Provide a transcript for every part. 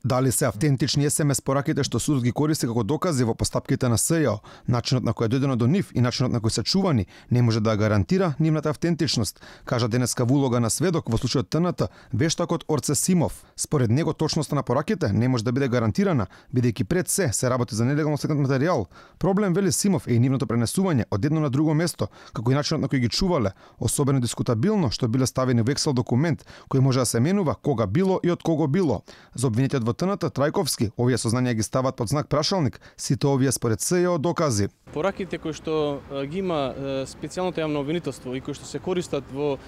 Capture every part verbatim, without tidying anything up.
Дали се автентични ес ем ес пораките што судот ги користи како докази во постапките на ес ј о, начинот на кој е дојдено до нив и начинот на кој се чувани не може да гарантира нивната автентичност, кажа денеска во улога на сведок во случајот Т Н Т вештакот Орце Симов. Според него точноста на пораките не може да биде гарантирана, бидејќи пред се се работи за нелегално стекнат материјал. Проблем, вели Симов, е и нивното пренесување од едно на друго место, како и начинот на кој ги чувале, особено дискутабилно што биле ставени во Excel документ кој може да се менува кога било и од кого било. За обвинетиот во Т Н Т Трајковски, овие сознанија ги стават под знак прашалник, сите овие според ес ј о докази. Пораките кои што ги има специјалното јавно обвинителство и кои што се користат во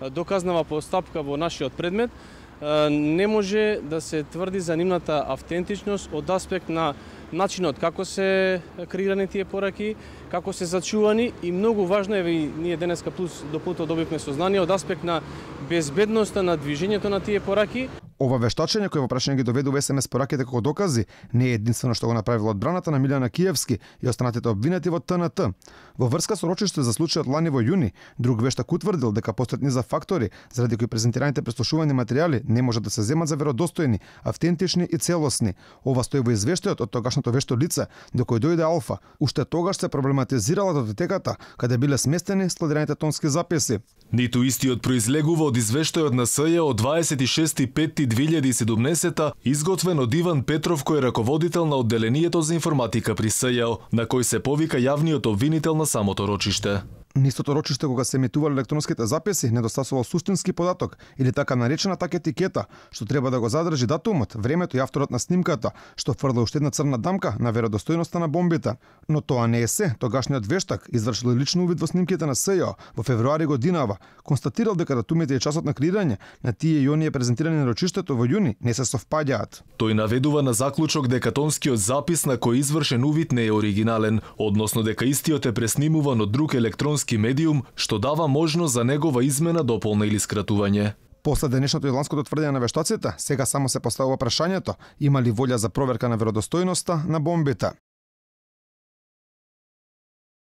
доказнава постапка во нашиот предмет, не може да се тврди за нивната автентичност од аспект на начинот како се креирани тие пораки, како се зачувани и многу важно е, и ние денеска плюс дополнително добивме сознание од аспект на безбедноста на движењето на тие пораки. Ова вештачење кој во прашање ги доведува ес ем ес пораките како докази не е единствено што го направила одбраната на Милјана Киевски и останатите обвинети во Т Н Т. Во врска со рочиште за случајот лани во јуни, друг вештак утврдил дека постојат низа фактори заради кои презентираните преслушувани материјали не можат да се земат за веродостојни, автентични и целосни. Ова стои во извештајот од тогашното вешто лице до кој дојде Алфа. Уште тогаш се проблематизирала датотеката каде биле сместени складираните тонски записи. Ниту истиот произлегува од извештајот на ес ј од дваесет и шести пети две илјади и седумнесета, изготвен од Иван Петров, кој е раководител на одделението за информатика при ес ј о, на кој се повика јавниот обвинител на самото рочиште. Нистото рочиште кога се емитувале електронските записи недостасувал суштински податок или така наречената етикета, што треба да го задржи датумот, времето и авторот на снимката, што фрла уште една црна дамка на веродостојноста на бомбите. Но тоа не е се. Тогашниот вештак извршил лично увид во снимките на ес ј о во февруари годинава, констатирал дека датумите и часот на креирање на тие и оние презентирани на рочиштето во јуни не се совпаѓаат. Тој наведува на заклучок дека тонскиот запис на кој извршен увид не е оригинален, односно дека истиот е преснимуван од друг електронски медиум, што дава можност за негова измена, дополна или скратување. После денешното и ланското тврдење на вештаците, сега само се поставува прашањето има ли волја за проверка на веродостојноста на бомбите.